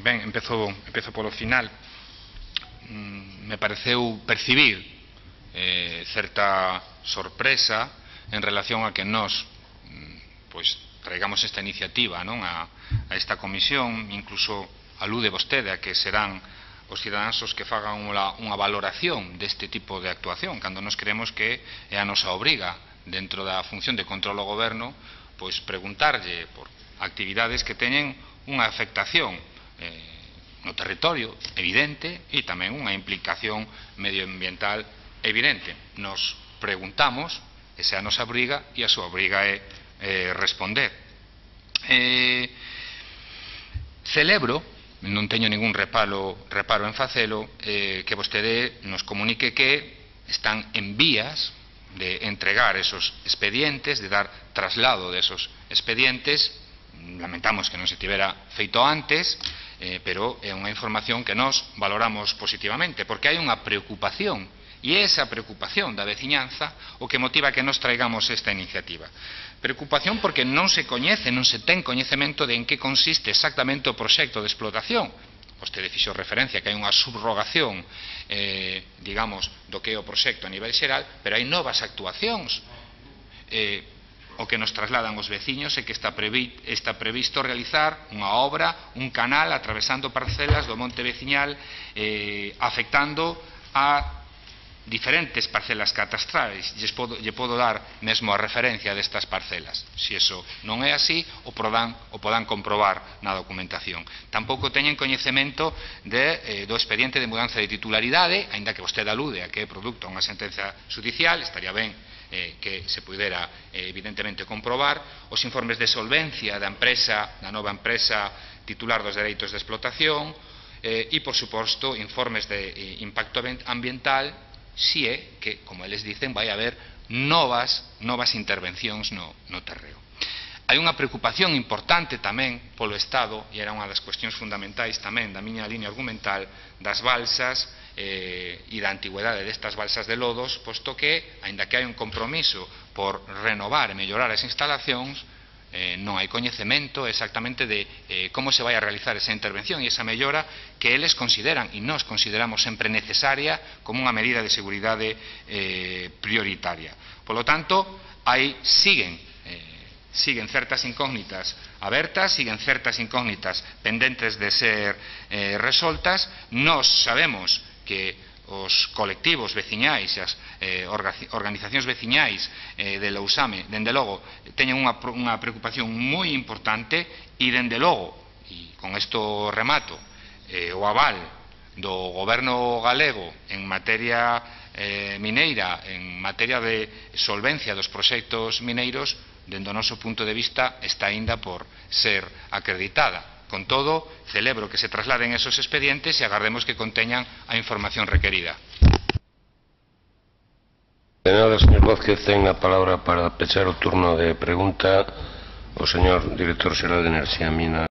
Ben, empezo polo final. Me pareceu percibir certa sorpresa en relación a que nós traigamos esta iniciativa a esta comisión. Incluso alude vostede a que serán os cidadáns os que fagan unha valoración deste tipo de actuación, cando nos creemos que é a nosa obriga dentro da función de control ao goberno preguntarlle por actividades que teñen unha afectación no territorio evidente e tamén unha implicación medioambiental evidente. Nos preguntamos, esa é a nosa obriga e a súa obriga é responder. Celebro, non teño ningún reparo en facelo, que vostede nos comunique que están en vías de entregar esos expedientes, de dar traslado de esos expedientes. Lamentamos que non se tivera feito antes, pero é unha información que nós valoramos positivamente, porque hai unha preocupación, e é esa preocupación da veciñanza o que motiva que nos traigamos esta iniciativa. Preocupación porque non se coñece, non se ten coñecemento de en que consiste exactamente o proxecto de explotación. Vostede fixo referencia que hai unha subrogación, digamos, do que é o proxecto a nivel xeral, pero hai novas actuacións. O que nos trasladan os veciños é que está previsto realizar unha obra, un canal atravesando parcelas do monte veciñal, afectando a diferentes parcelas catastrais. Lle podo dar mesmo a referencia destas parcelas. Se iso non é así, o podan comprobar na documentación. Tampouco teñen coñecemento do expediente de mudanza de titularidade, aínda que vostede alude a que é produto a unha sentenza judicial. Estaría ben que se pudera evidentemente comprobar os informes de solvencia da nova empresa titular dos dereitos de explotación e, por suposto, informes de impacto ambiental, si é que, como eles dicen, vai haber novas intervencións no terreo. Hai unha preocupación importante tamén polo Estado, e era unha das cuestións fundamentais tamén da miña liña argumental, das balsas e da antigüedade destas balsas de lodos, posto que, aínda que hai un compromiso por renovar e mellorar as instalacións, non hai coñecemento exactamente de como se vai a realizar esa intervención e esa mellora que eles consideran, e nós consideramos sempre necesaria, como unha medida de seguridade prioritaria. Polo tanto, siguen certas incógnitas abertas, siguen certas incógnitas pendentes de ser resoltas. Nós sabemos que os colectivos veciñais, as organizacións veciñais de Lousame, dende logo, teñen unha preocupación moi importante e, dende logo, e con isto remato, o aval do goberno galego en materia mineira, en materia de solvencia dos proxectos mineiros, dende o noso punto de vista, está aínda por ser acreditada. Con todo, celebro que se trasladen esos expedientes e agardemos que conteñan a información requerida. De nada, señor Vázquez, ten a palabra para pechar o turno de pregunta o señor director xeral de Enerxía e Minas.